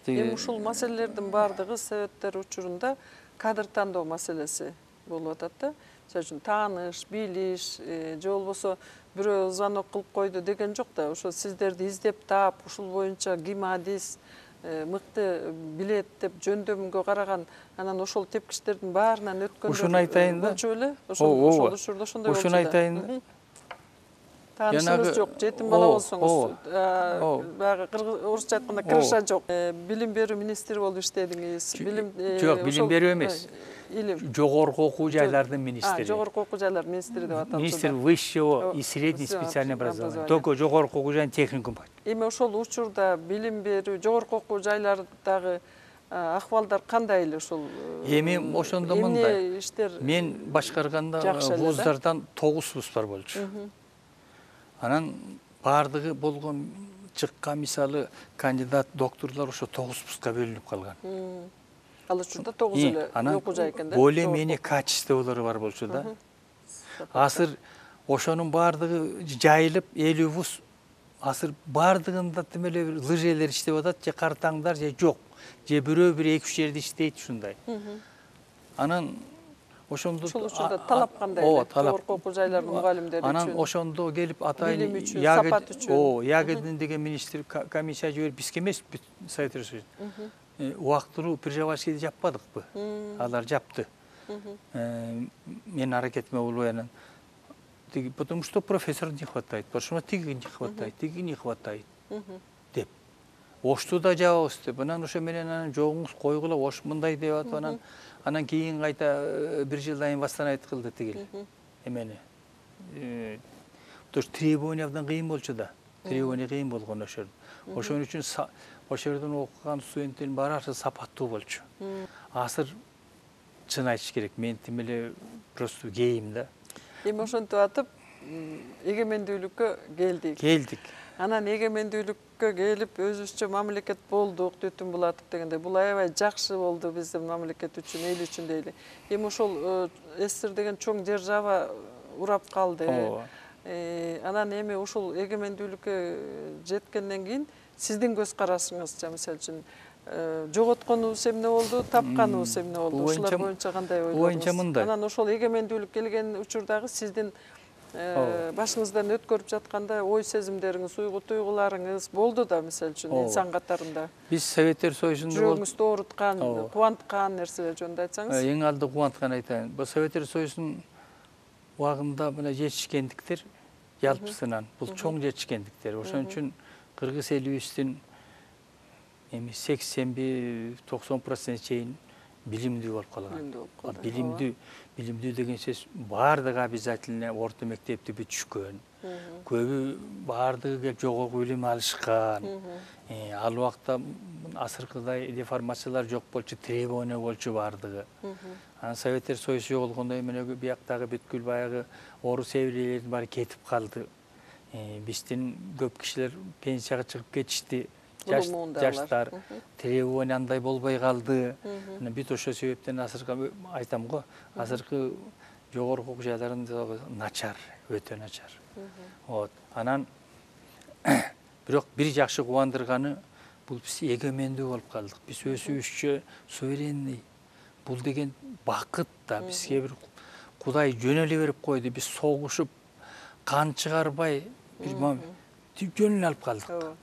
Эми ушул маселелердин баардыгы советтер учурунда кадр тандоо маселеси болуп атат да. Мисалы үчүн тааныш, билиш, же болбосо бирөө звонок кылып койду деген жок да. Ошо сиздерди издеп таап, ушул боюнча ким адис, мыкты билет деп жөндөмгө караган, анан ошол тепкичтердин баарынан өткөндө. Ушуну айтайын да. Болчу беле? Ошол учурда ошондой болчу. Ушуну айтайын да. Таанышыңыз жок, жетим бала болсоңуз, баягы орусча айтканда крыша жок. Билим берүү министри болуп иштедиңиз. Жок, билим берүү эмес. Жогорку окуу жайлардын министри. Жогорку окуу жайлар министри деп аталат. Министр высшего и среднего специального образования. Только жогорку окуу жайын техникум бар. Эми ошол учурда билим берүү жогорку окуу жайлардагы акыбалдар кандай эле ошол? Эми ошондо мындай. Мен башкарганда вуздардан 9 вуз бар болчу. Анан баардыгы болгон чыккан мисалы кандидат докторлор ошо 9 вузга бөлүнүп калган. Ал учурда 9 эле окуу жай экен да. Более-менее качестволору бар болчу да. Азыр ошонун баардыгы жайылып 50 вуз, азыр баардыгында тимеле лыжелер иштеп атат, же картаңдар же жок, же бирөө бир 2-3 жерде иштейт ушундай. Анан ошондо ошол учурда талап кандай эле? Жогорку окуу жайлардын мугалимдери үчүн. Анан ошондо келип атайын сапат үчүн. Ягодин деген министр комиссия жиберип, бизге эмес, Совет Союзу. Убактылуу приживальскийди жаппадыкпы? Алар жапты. Мен аракетиме болбой анан тиги, потому что профессор не хватает, потому что тиги не хватает, тиги не хватает деп. Ошту да жабабыз деп. Анан ошо менен анан жогуңуз койгула, ош мындай деп атып анан кийин кайта бир жылдан кийин восстановить кылды тигил эмени. То есть требование абдан кыйын болчу да. Требование кыйын болгон ошол. Ошон үчүн ошол жерден окуган студенттердин баары сапаттуу болчу. Азыр чын айтыш керек, мен тим эле просто кейим да. Эми ошентип атып, эгемендүүлүккө келдик. Анан эгемендүүлүккө келип өзүбүзчө мамлекет болдук, Түтүн Булатов дегенде, бул аябай жакшы болду биздин мамлекет үчүн, эл үчүн дейли. Эми ошол СССР деген чоң держава урап калды. Анан эми ушул эгемендүүлүккө жеткенден кийин сиздин көз карашыңызча, мисалы үчүн жоготконубуз эмне болду, тапканыбыз эмне болду? Ушулар боюнча кандай ойлоруңуз? Анан ошол эгемендүүлүк келген учурдагы сиздин башыңыздан өткөрүп жатканда ой сезимдериңиз, туйгуларыңыз болду да, мисалы үчүн инсан катарында. Биз Советтер Союзунда жүрөгүңүздү ооруткан, кубанткан нерселер жөнүндө айтсаңыз. Эң алды кубанткан айтайын. Бул Советтер Союзунун убагында мына жетишкендиктер жалпысынан бул чоң жетишкендиктер. Ошон үчүн кыргыз элибиздин эми 80-90% чейин билимдүү болуп калган. Билимдүү болуп калды. Билимдүү деген сөз баардыгы обязательно орто мектепти бүтүшкөн. Көбү баардыгы жогорку билим алышкан. Ал убакта азыркыдай деформациялар жок болчу, требование болчу баардыгы. Анан Советтер Союзу жоголгондо эмне бияктагы бүткүл баягы орус эврейлердин баары кетип калды. Биздин көп кишилер пенсияга чыгып кетишти. Жаштар требование андай болбой калды. Бүт ошол себептен азыркы айтам го, азыркы жогорку окуу жайларын начар, өтө начар. Вот. Анан бирок бир жакшы кубандырганы бул биз эгемендүү болуп калдык. Биз өсүбүзчө суверенный. Бул деген бакыт да, бизге бир Кудай жөн эле берип койду. Биз согушуп, кан чыгарбай, бир жөн эле алып калдык.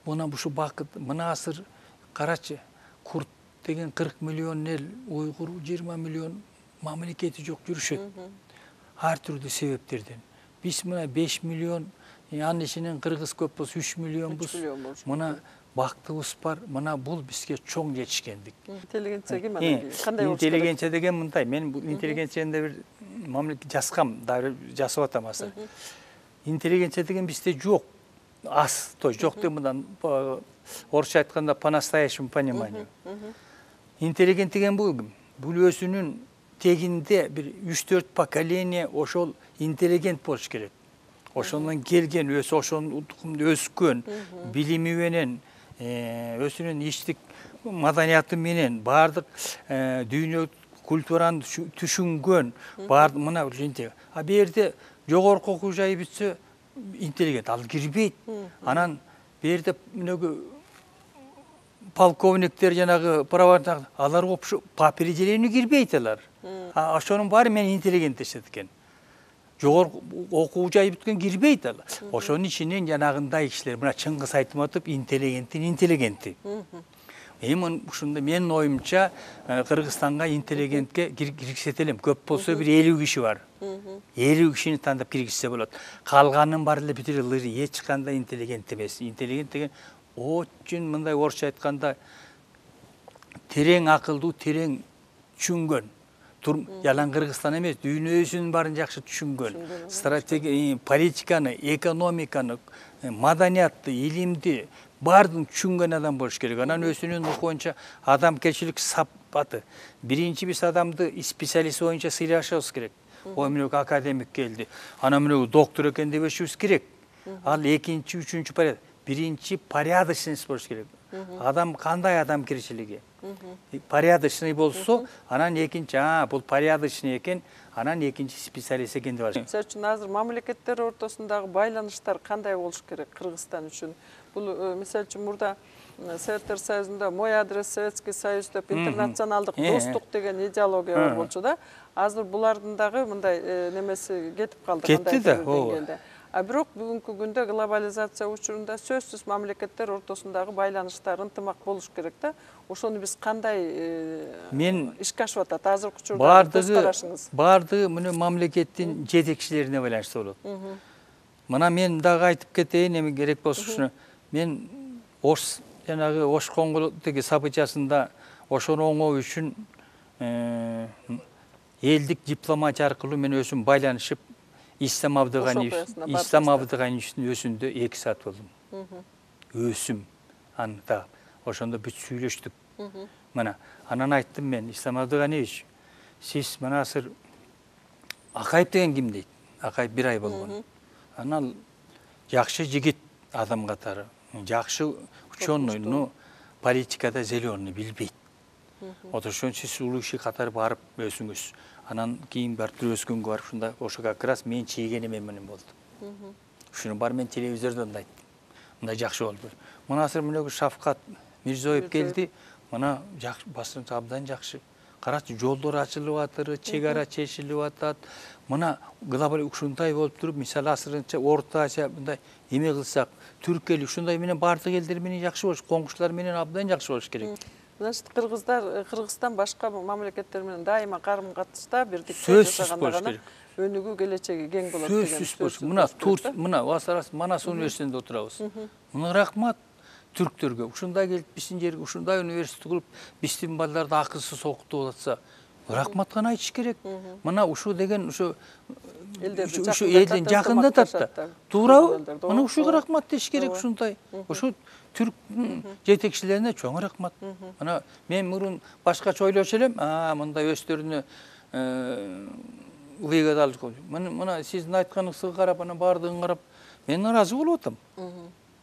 Мына бушу бакыт, мына азыр карачы, курд деген 40 миллион эл, уйгур 20 миллион мамлекети жок жүрүшөт. Ар түрдүү себептерден. Биз мына 5 миллион, анын ичинен кыргыз көп болсо 3 миллионбуз. Мына бактыбыз бар, мына бул бизге чоң жетишкендик. Интеллигенция кандай болуш керек? Интеллигенция деген мындай, мен бул интеллигенцияны бир мамлекет жазгам, да жасап атам азыр. Интеллигенция деген бизде жок. Аз, то есть жок деп мындан орусча айтканда по настоящему пониманию. Интеллигент деген бул ким? Бул өзүнүн тегинде бир 3-4 поколение ошол интеллигент болуш керек. Ошондон келген, ошонун өскөн, билими менен, өзүнүн иштик маданияты менен, баардык дүйнө культураны түшүнгөн, баардык мына ушинтип. А бу жерде жогорку окуу жайы бүтсө интеллигент ал кирбейт. Анан бу жерде мынөгү полковниктер жанагы правоохранитель алар по определению кирбейт алар. Ошонун баары мен интеллигент дешет экен. Жогорку окуу жайы бүткөн кирбейт ал. Ошонун ичинен жанагындай кишилер, мына Чыңгыз Айтматов интеллигенти. Эми ушунда менин оюмча Кыргызстанга интеллигентке киргизет элем. Көп болсо бир 50 киши бар. 50 кишини тандап киргизсе болот. Калганын баары эле бүтүрө лыр, эч кандай интеллигент эмес. Интеллигент деген очень мындай орусча айтканда терең акылдуу, терең түшүнгөн. Ялан Кыргызстан эмес, дүйнөсүнүн баарын жакшы түшүнгөн. Стратегия, политиканы, экономиканы, маданиятты, илимди баардыгын түшүнгөн адам болуш керек. Анан өзүнүн укугунча адамгерчилик сапаты. Биринчи биз адамды специалист боюнча сыйлашыбыз керек. Ой, мынау академик келди. Анан мынау доктор экен дебешибиз керек. Ал экинчи, үчүнчү порядок. Биринчи порядочность болуш керек. Адам кандай адамгерчилиги? Порядочный болсо, анан экинчи, бул порядочный экен, анан экинчи специалист экен деп атышат. Сиз үчүн азыр мамлекеттер ортосундагы байланыштар кандай болуш керек Кыргызстан үчүн? Бул мисалы үчүн мурда Советтер Союзунда мой адрес Советский Союз деп интернационалдык достук деген идеология бар болчу да. Азыр булардын дагы мындай немеси кетип калды кандай деңгээлде. А бирок бүгүнкү күндө глобализация учурунда сөзсүз мамлекеттер ортосундагы байланыштар ынтымак болуш керек да. Ошону биз кандай мен ишке ашып атат азыркы учурда көз карашыңыз? Баардыгы муну мамлекеттин жетекчилерине байланыштуу болот. Мына мен дагы айтып кетейин, эми керек болсо ушуну. Мен жанагы Ош Коңгулдуги событиясында ошону оңоо үчүн элдик дипломатия аркылуу мен өзүм байланышып Ислам Абдыганиевдин өзүндө 2 саат болдум. Өсүм анда ошондо бүт сүйлөштүк. Мына анан айттым мен, Ислам Абдыганиевич, сиз мына азыр Акаев деген ким дейт? Акаев 1 ай болгон. Анан жакшы жигит адам катары, жакшы ученый, но политикада зеленый билбейт. Ошон сиз улуу киши катары барып өзүңүз. Анан кийин барып өскөнгө барып ушунда ошо как раз мен чийгеним менен болду. Ушуну бар мен телевизордон да айттым. Мындай жакшы болду. Мына азыр мынөгү Шавкат Мирзиёев келди. Мына жакшы басым абдан жакшы. Карачы, жолдор ачылып атыр, чек ара чечилип атат. Мына глобал ушундай болуп туруп, мисалы азырынча Орто Азия мындай эме кылсак, Түркия ушундай менен баардык элдер менен жакшы болуш, коңшулар менен абдан жакшы болуш керек. Значит, Кыргызстан башка мамлекеттер менен дайыма карым-катышта бирдикте жашаганда гана өнүгүү келечеги кең болот деген сөзсүз болуш. Мына Манас университетинде отурабыз. Мына рахмат. түрктөргө ушундай келип биздин жерге ушундай университет кылып биздин балдарды акысыз окутуп атса рахмат гана айтыш керек. Мына ушу деген ушу элдин жакындатат да. Туурабы? Мына ушуга рахмат деш керек ушундай. Ушу түрк жетекчилерине чоң рахмат. Мына мен мурун башкача ойлочу элем, мындай өздөрүнө выгода алып. Мына сиздин айтканыңызга карап, ана бардыгын карап, мен ыраазы болуп атам.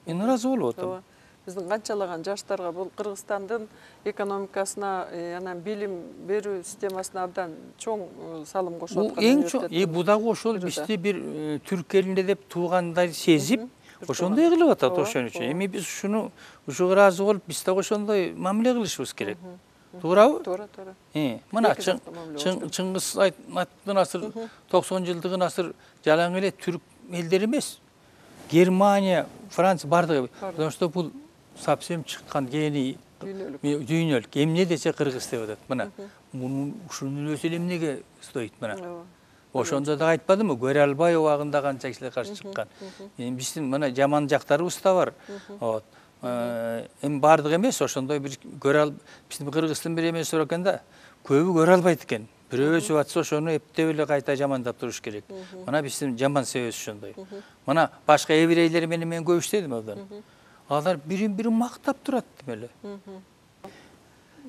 Мен ыраазы болуп атам. Биздин канчалаган жаштарга бул Кыргызстандын экономикасына, анан билим берүү системасына абдан чоң салым кошуп аткан. Эң чоң, бу дагы ошол бизди бир түрк элинде деп туугандай сезип, ошондой кылып атат ошон үчүн. Эми биз ушуга ыраазы болуп, биз дагы ошондой мамиле кылышыбыз керек. Туурабы? Туура. Мына Чыңгыз Айтматовдун асыр 90-жылдыгын асыр жалаң эле түрк элдери эмес. Германия, Франция бардыгы. Потому что бул совсем чыккан гений дүйнөлүк. Эмне десе кыргыз деп атат. Мына ушунун өзү эмнеге стоит мына. Ошондо да айтпадымбы? Көрө албай убагында канча кишилер каршы чыккан. Биздин мына жаман жактарыбыз да бар. Эми бардык эмес, ошондой бир биздин кыргыздын бир эмеси бар экен да. Көбү көрө албайт экен. Бирөө өсүп атса ошону эптеп эле кайта жамандап туруш керек. Мына биздин жаман себебибиз ошондой. Мына башка еврейлер менен мен көп иштедим абдан. Алар бирин-бири мактап турат эле.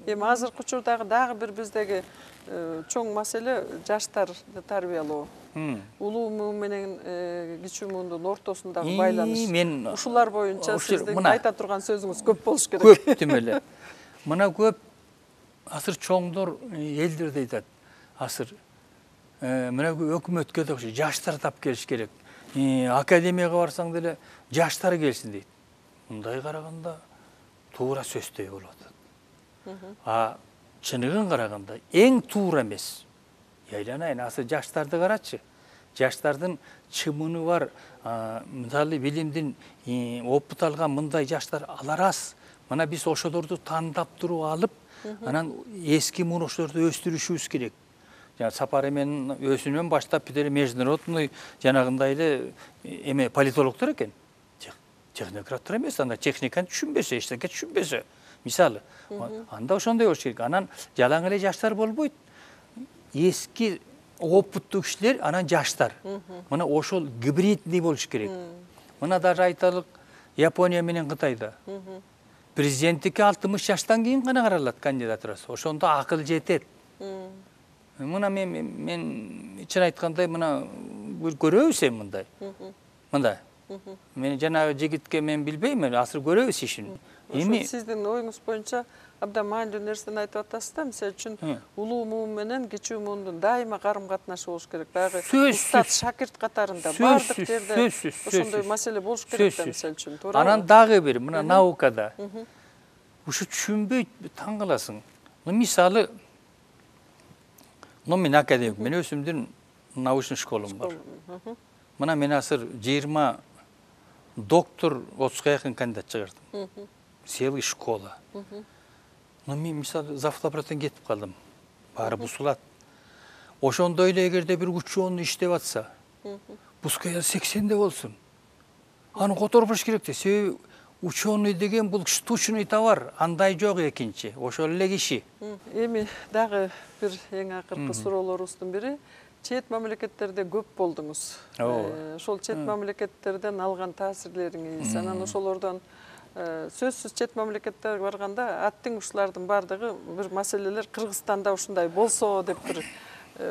Эми азыркы учурдагы дагы бир биздеги чоң маселе жаштарды тарбиялоо. Улуу муун менен кичүү муундун ортосундагы байланыш. Ушулар боюнча сиздин айта турган сөзүңүз көп болуш керек. Көп тим эле. Мына көп асыр чоңдор элдер айтат. Асыр мына өкмөткө да жаштар тап келиш керек. Академияга барсаң деле жаштар келсин дейт. Мындай караганда туура сөздөй болуп атат. Чыныгын караганда эң туура эмес. Айланайын, асыр жаштарды карачы. Жаштардын чымыны бар, мисалы билимдин опыт алган мындай жаштар алар аз. Мына биз ошолорду тандап туруп алып, анан эски мунуштарды өстүрүшүбүз керек. Жана Сапар эмен өзүнөн баштап бир международный жанагындай эле эме политологдор экен. Технократтар эмес, анда техниканы түшүнбөсө, эчтеке түшүнбөсө, мисалы, анда ошондой болуш керек. Анан жалаң эле жаштар болбойт. Эски опыттуу кишилер, анан жаштар. Мына ошол гибридный болуш керек. Мына даже айталык Япония менен Кытайда. Президенттикке 60 жаштан кийин гана каралат кандидатурасы. Ошондо акыл жетет. Мына мен чын айткандай мына көрөбүз эми мындай. Мындай. Мен жанагы жигитке мен билбейм, азыр көрөбүз ишин. Эми сиздин оюңуз боюнча абдан маанилүү нерсени айтып атасыз да. Мисалы үчүн улуу муун менен кичүү муундун дайыма карым катнашы болуш керек. Баягы устат шакирт катарында бардык жерде ошондой маселе болуш керек да, мисалы үчүн. Туура. Анан дагы бир мына наукада ушу түшүнбөйт, таң каласың. Мисалы, мен академик, мен өзүмдүн научный школам бар. Мына мен азыр 20 доктор, 30-га якын кандидат чыгардым. Целый школа. Мен мисалы завтраптан кетип калдым. Баары бузулат. Ошондой эле эгерде бир ученый иштеп атса, пускай 80-де болсун. Аны которуп бериш керек да. Себеби ученый деген бул штучный товар, андай жок экинчи. Ошол эле киши. Эми дагы бир эң акыркы суроолорубуздун бири, чет мамлекеттерде көп болдуңуз. Ошол чет мамлекеттерден алган таасирлериңиз, анан ошолордон сөзсүз чет мамлекеттерге барганда аттың ушулардын бардыгы бир маселелер Кыргызстанда ушундай болсо деп бир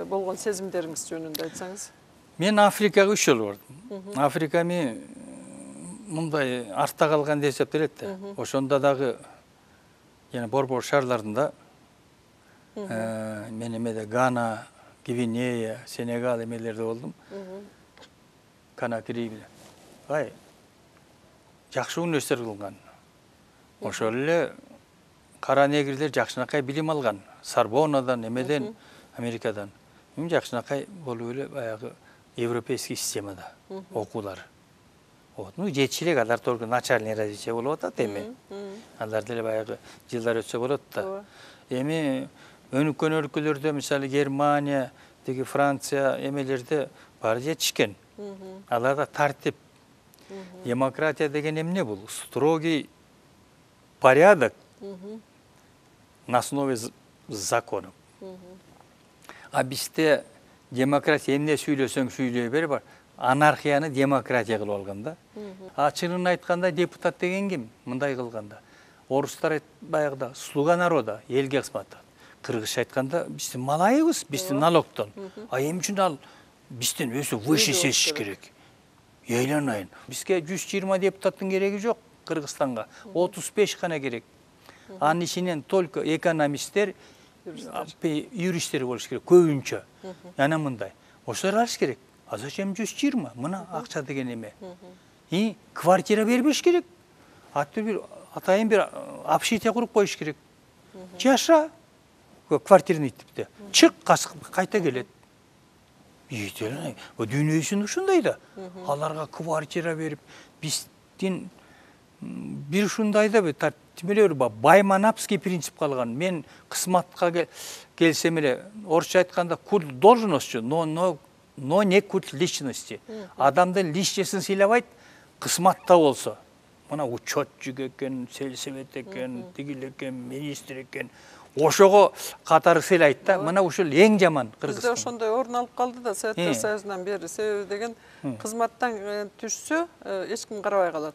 болгон сезимдериңиз жөнүндө айтсаңыз. Мен Африкага 3 жолу бардым. Африка эми мындай артта калган деп эсептелет да. Ошондо дагы жана борбор шаарларында мен эмеде Гана, Гвинея, Сенегал эмелерде болдум. Конакри менен. Жакшы университет кылган. Ошол эле кара негрлер жакшынакай билим алган. Сорбоннадан, эмеден, Америкадан. Эми жакшынакай болуп эле баягы европейский системада окуулар. Жетчилик алар только начальный развитие болуп атат эми. Алар деле баягы жылдар өтсө болот да. Эми өнүккөн өлкөлөрдө, мисалы Германия, деги Франция эмелерде баары жетишкен. Аларда тартип, демократия деген эмне бул? Строгий порядок на основе законов. А бизде демократия эмне сүйлөсөң сүйлөй бер бар. Анархияны демократия кылып алган да. А чынын айтканда депутат деген ким? Мындай кылганда. Орустар баягыда слуга народа, элге кызмат. Кыргызча айтканда биздин малайыбыз, биздин налогтон. А эмне үчүн ал бизден өзү выше сечиш керек? Ыйланайын. Бизге 120 депутаттын кереги жок Кыргызстанга. 35 гана керек. Анын ичинен только экономисттер, юристтер болуш керек көбүнчө. Жана мындай. Ошолор алыш керек. А зачем 120? Мына акча деген эме. Квартира бербеш керек. Атайын бир общежитие куруп коюш керек. Жаша квартирный типте. Чык, кайта келет. Дүйнөсүн ушундай да. Аларга квартира берип, биздин бир ушундай да тимелер байманапский принцип калган. Мен кызматка келсем эле, орусча айтканда культ должности, но не культ личности. Адамдын личностун сыйлабайт, кызматта болсо. Мына учетчик экен, сельсовет экен, тигил экен, министр экен. Ошого катары сыйлайт да. Мына ушул эң жаман Кыргызстан. Бизде ошондой орун алып калды да Советтер Союзунан бери. Себеби деген кызматтан түшсө, эч ким карабай калат.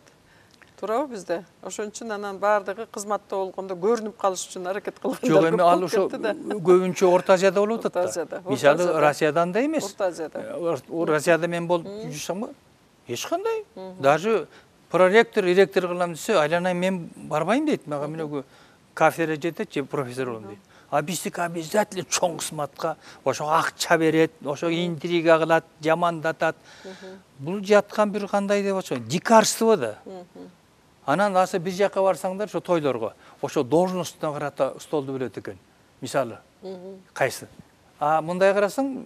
Туурабы бизде? Ошон үчүн анан баардыгы кызматта болгондо көрүнүп калыш үчүн аракет кылгандар. Жок, эми ал ошо көбүнчө Орто Азияда болуп атат да. Мисалы Россияда андай эмес. Орто Азияда. Россияда мен болуп жүрсөм, эч кандай. Даже проректор, ректор кылам десе, айланайын мен барбайм дейт. Мага менен кафедра жетет же профессор болом дейт. А биздики обязательно чоң кызматка ошого акча берет, ошого интрига кылат, жамандатат. Бул жаткан бир кандай деп атышат, дикарство да. Анан аса бир жака барсаңдар, ошо тойлорго, ошо должностуна карата столду бөлөт экен. Мисалы, кайсы? А мындай карасаң,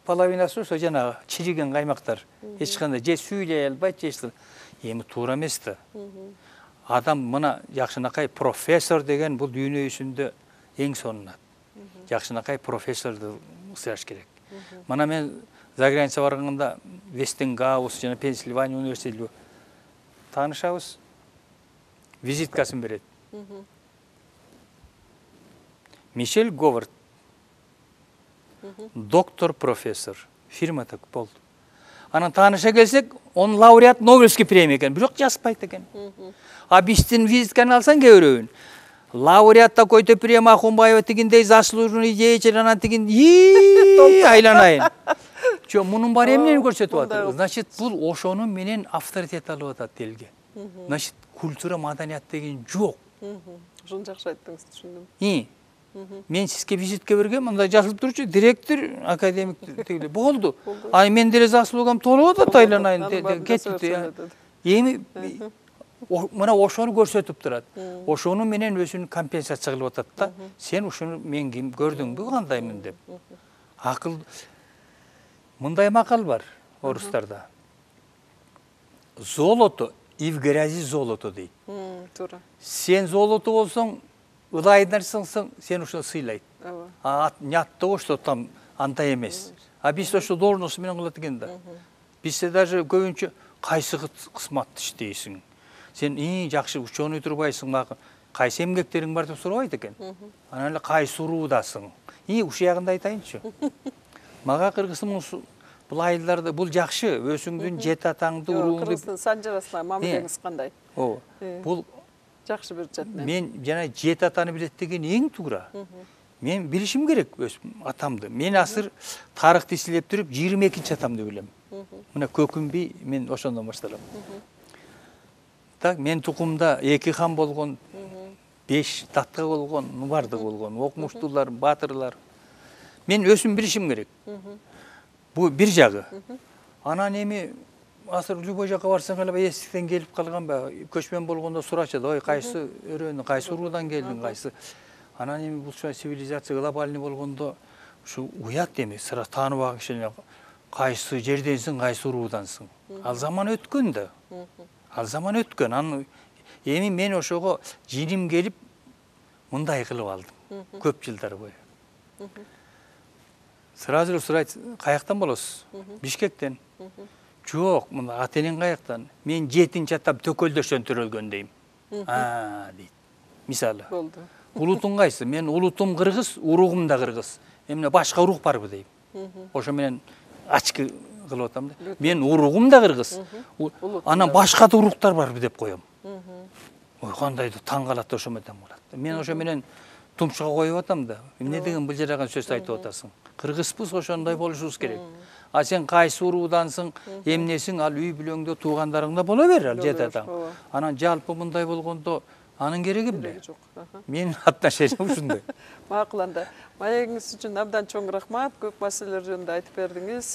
половинасы ошо жанагы чириген каймактар. Эч кандай же сүйлөй албайт, же эми туура эмес да. Адам мына жакшынакай профессор деген бул дүйнө жүзүндө эң сонунат. Жакшынакай профессорду сыяш керек. Мына мен за граница барганда Вестингаус жана Пенсильвания университети таанышабыз. Визиткасын берет. Мишель Говард. Доктор, профессор. Фирма так болду. Анан тааныша келсек, он лауреат Нобелевский премия экен, бирок жазбайт экен. А биздин визитканы алсаң көрөбүн. Лауреат такой-то премия Ахунбаева тигиндей заслуженный деятель, анан тигин айланайын. Жо, мунун бар эмнени көрсөтүп атат. Значит, бул ошонун менен авторитет алып атат элге. Значит, культура, маданият деген жок. Ошону жакшы айттыңыз, түшүндүм. Мен сизге визитке бергем, мындай жазылып турчу, директор, академик тегиле болду. А мен деле заслугам толуп атат, айланайын кетти. Эми мына ошону көрсөтүп турат. Ошону менен өзүн компенсация кылып атат да. Сен ушуну мен ким көрдүңбү, кандаймын деп. Акыл мындай макал бар орустарда. Золото и в грязи золото дейт. Туура. Сен золото болсоң, ылайдарсың, сен ошо сыйлайт. А нятто что там андай эмес. А биз ошо должность менен кылат экен да. Бизде даже көбүнчө кайсы кызматты иштейсиң? Сен жакшы ученый турбайсың, кайсы эмгектериң бар деп сурабайт экен. Анан эле кайсы уруудасың? Ушул ягында айтайынчы. Мага Кыргызстан бул айылдарда бул жакшы, өзүңдүн жет атаңды уруңду. Кыргызстан санжарасына мамилеңиз кандай? Бул жакшы бир жат. Мен жана жет атаны билет деген эң туура. Мен билишим керек өз атамды. Мен азыр тарыхты изилдеп туруп 22-чи атамды билем. Мына Көкүмбий мен ошондон башталам. Так, мен тукумда 2 хан болгон, 5 татка болгон, бардык болгон, окумуштуулар, батырлар. Мен өзүм билишим керек. Бу бир жагы. Анан эми азыр любой жака барсаң эле эсиктен келип калганбы, көчмөн болгондо сурачат, ой, кайсы өрөөнү, кайсы уруудан келдиң, кайсы. Анан эми бул цивилизация глобальный болгондо ушу уят эми, сыра тааныбаган кишилер кайсы жерденсиң, кайсы уруудансың. Ал заман өткөн да. Ал заман өткөн. Эми мен ошого жиним келип мындай кылып алдым. Көп жылдар бою. Сразу эле сурайт, каяктан болосуз? Бишкектен. Жок, мына ата-энең каяктан? Мен 7-чи атам Төкөлдөштөн төрөлгөн дейм. Дейт. мисалы. Болду. Улутуң кайсы? Мен улутум кыргыз, уругум да кыргыз. Эмне башка урук барбы дейм. Ошо менен ачкы кылып атам да. Мен уругум да кыргыз. Анан башка да уруктар барбы деп коем. Ой, кандайдыр таң калат ошо менен калат. Мен ошо менен тумшуга коюп атам да. Эмне деген былжыраган сөз айтып атасың? Кыргызбыз, ошондой болушубуз керек. А сен кайсы уруудансың, эмнесиң, ал үй бүлөңдө туугандарыңда бола бер, ал жетатаң. Анан жалпы мындай болгондо анын кереги эмне? Менин отношениям ушундай. Макул анда. Маегиңиз үчүн абдан чоң рахмат. Көп маселелер жөнүндө айтып бердиңиз.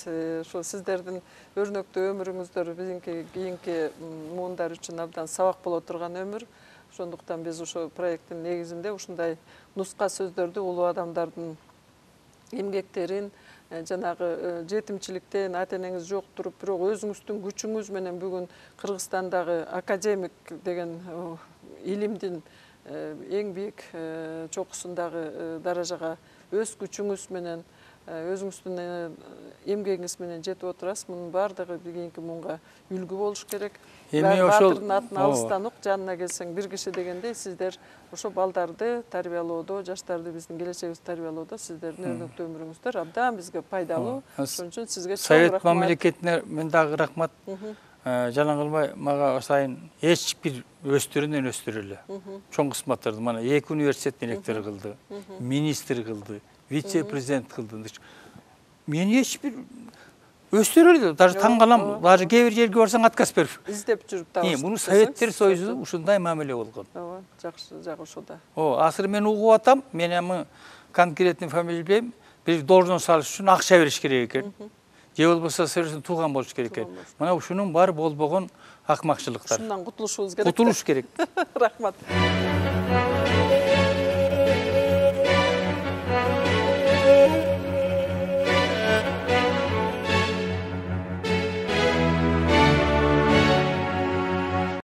Ошо сиздердин өрнөктүү өмүрүңүздөр бизинки кийинки муундар үчүн абдан сабак боло турган өмүр. Ошондуктан биз ошо проекттин негизинде ушундай нуска сөздөрдү улуу адамдардын эмгектерин, жанагы жетимчиликтен ата-энеңиз жок туруп, бирок өзүңүздүн күчүңүз менен бүгүн Кыргызстандагы академик деген илимдин эң бийик чокусундагы даражага өз күчүңүз менен, өзүңүздүн эмгегиңиз менен жетип отурасыз. Мунун баардыгы кийинки муунга үлгү болуш керек. Баатырдын атын алыстан ук, жанына келсең бир киши дегендей, сиздер ошо балдарды тарбиялоодо, жаштарды биздин келечегибизди тарбиялоодо сиздердин өрнөктүү өмүрүңүздөр абдан бизге пайдалуу. Ошон үчүн сизге чоң рахмат. Совет мамлекетине мен дагы рахмат. Жалаң кылбай, мага сайын эч бир өстүрүнөн өстүрөлө. Чоң кызматтарды мана 2 университет директору кылды, министр кылды, вице-президент кылды. Мен эч бир өстүрөлдү. Даже таң калам, даже кээ бир жерге барсаң отказ берип. Издеп жүрүп табасыз. Муну Советтер Союзу ушундай мамиле болгон. Ооба, жакшы жагы ошода. Азыр мен угуп атам, мен эми конкретный фамилия билбейм, бир должность алыш үчүн акча бериш керек экен. Же болбосо сервисин тууган болуш керек экен. Мына ушунун баары болбогон акмакчылыктар. Ушундан кутулушубуз керек. Кутулуш керек. Рахмат.